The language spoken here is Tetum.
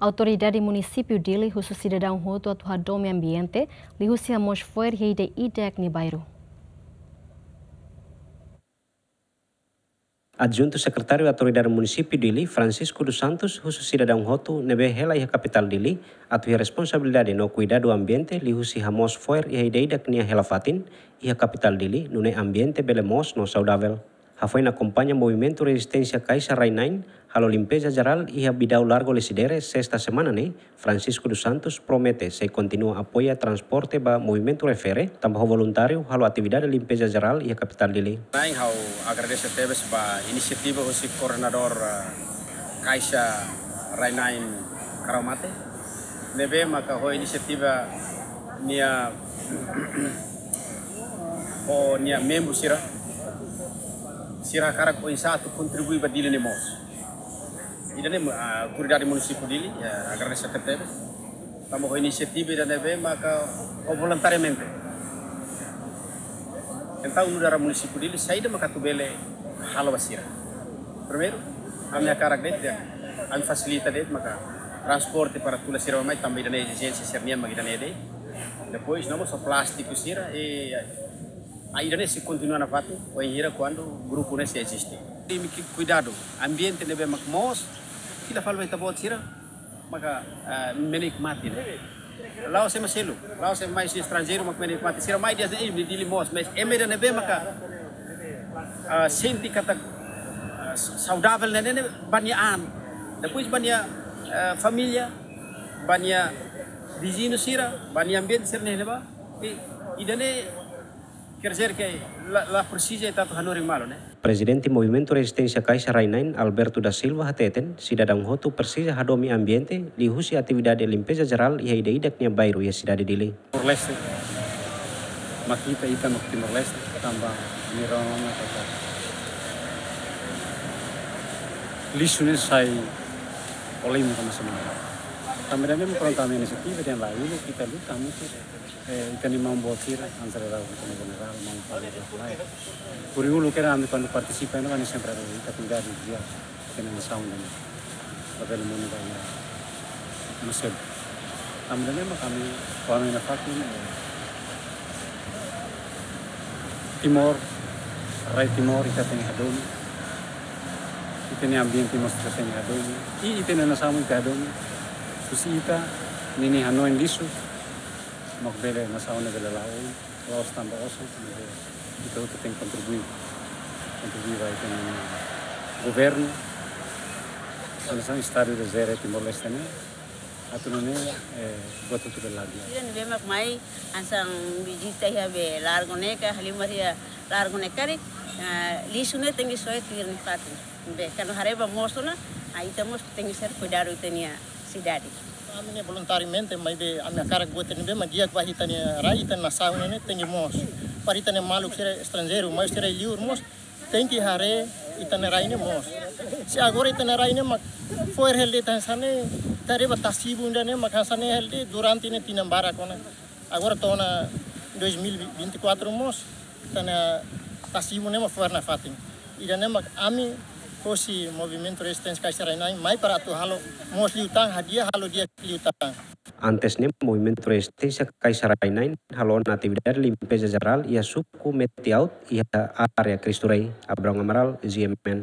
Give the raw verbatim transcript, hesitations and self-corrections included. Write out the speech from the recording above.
Autoridade Munisípiu Dili husu sidadaun hotu atu hadomi ambiente, liuhusi hamoos fo'er iha ida-idak nia bairru. Adjuntu Sekretáriu Autoridade Munisípiu Dili, Francisco dos Santos, husu sidadaun hotu ne'ebé hela iha kapitál Dili, atu iha responsabilidade no kuidadu ambiente, liuhusi hamoos fo'er iha ida-idak nia hela-fatin, iha kapitál Dili, nune'e ambiente bele moos no saudavel. Hafoin akompaña Movimentu Rezisténsia Kaixa Rai Na'in halo limpeza jerál iha Bidau Largo Lecidere, sesta semana ne'e, Francisco dos Santos promete sei kontinua apoia transporte ba movimentu refere, tanba ho voluntáriu halo atividade limpeza jerál iha kapitál Dili. Na'in, ha'u agradese tebes ba inisiativa husi koordenadór, eh, Kaixa Rai Na'in Karaumate. Ne'ebé maka ho inisiativa nia ho nia membru sira, sira hakarak oinsá atu kontribui ba Dili ne'e moos. Ida-ne'e, ah, autoridade munisípiu Dili, ya, agradese tebes. Tanba ho inisiativa ida-ne'ebé maka ho voluntariamente. Entaun nu'udar munisípiu Dili, saida maka atu bele halo ba sira. Primeiru, ami hakarak de'it, ya, ami fasilita de'it maka transporte para tula sira mai, tanba ida-ne'e ezijénsia sira-nian maka ida-ne'e de'it. Depois, no mós ho plástiku sira, e, ah, ida-ne'e sei kontinua nafatin, wainhira kuandu grupu ne'e sei eziste. Imi kuidadu, ambiente ne'ebé mak moos, fila fali ba ita-boot sira, maka, ah, menikmati ne'e. La'ós ema seluk, la'ós ema mai husi estranjeiru mak menikmati. Sira mai dehan, eh, imi Dili moos, mas ema ida-ne'ebé maka, ah, sente katak, ah, saudavel ne'e, ne'e, ne'e ba nia an. Depois ba nia, ah, família, ba nia viziñu sira, ba nia ambiente sira ne'e, ne'e ba. I, ida-ne'e, quer dizer que la, la presiza ita atu hanorin malu, ne'e? Prezidente Movimentu Rezisténsia Kaixa Rai Na'in, Alberto da Silva, hateten, sidadaun hotu presiza hadomi ambiente, liuhusi atividade limpeza jerál iha ida-idak nia bairru iha sidade Dili. Timor-Leste, mak ita, ita mak Timor-Leste, tanba nia rona ona katak lixu ne'e sai polímika nasionál. Tanba ida-ne'e mak pronta ami inisiativa dehan la uluk ita luta hamutuk, eh, ita-nia maun-boot sira, hanesan rau ita-nia jenerál, maun Fábio Jaflai. Por uluk kera ami kuandu partisipa, ami sempre ada ita kuidadu di'ak ita-nia nasaun ne'e. Papél mundo ba nia nasaun. Tanba ida-ne'e mak ami, kuandu ina fatin, eh, Timor, rai Timor, ita tenke hadomi. Ita-nia ambiente mós ita tenke hadomi. I ita-nia nasaun ita hadomi. Husi ita, ninia hanoin lixu, mak bele nasaun ne'e bele la'o, la'ós tanba osan, tanba ita hotu tenke kontribui. Kontribui ba ita-nia governu, hanesan Estadu da Zere Timor-Leste ne'e, atu nune'e, eh, buat hotu bele la'o di'ak. Sira ne'ebé mak mai, hanesan vizita iha be Largo ne'e ka, halimar iha Largo ne'e karik, eh, lixu ne'e tenke soe tuir nia fatin. Be, kuandu haree ba moos ona, ah, ita mós tenke ser kuidadu ita-nia sidade. Ami ne'e voluntariamente, maibé ami hakarak buat ne'ebé mak di'ak ba ita-nia rai, ita-nia nasaun ne'e tenke moos. Para ita-nia maluk sira estranjeiru, mai husi rai liur mós, tenke haree ita-nia rai ne'e moos. Se agora ita-nia rai ne'e mak fo'er hela de'it hanesan ne'e, ita haree ba tasibu ida-ne'e mak hanesan ne'e hela de'it durante ne'e tinan barak ona. Agora to'o ona dois mil e vinte e quatro mós, ita-nia tasibu ne'e mak fo'er nafatin. Ida-ne'e mak ami hosi Movimentu Rezisténsia Kaixa Rai Na'in mai para atu halo moos liután, hadi'a halo di'ak liután. Antes ne'e, Movimentu Rezisténsia Kaixa Rai Na'in halo ona atividade limpeza jerál iha suku Metiaut iha área Cristo Rei. Abraão Amaral, G M N.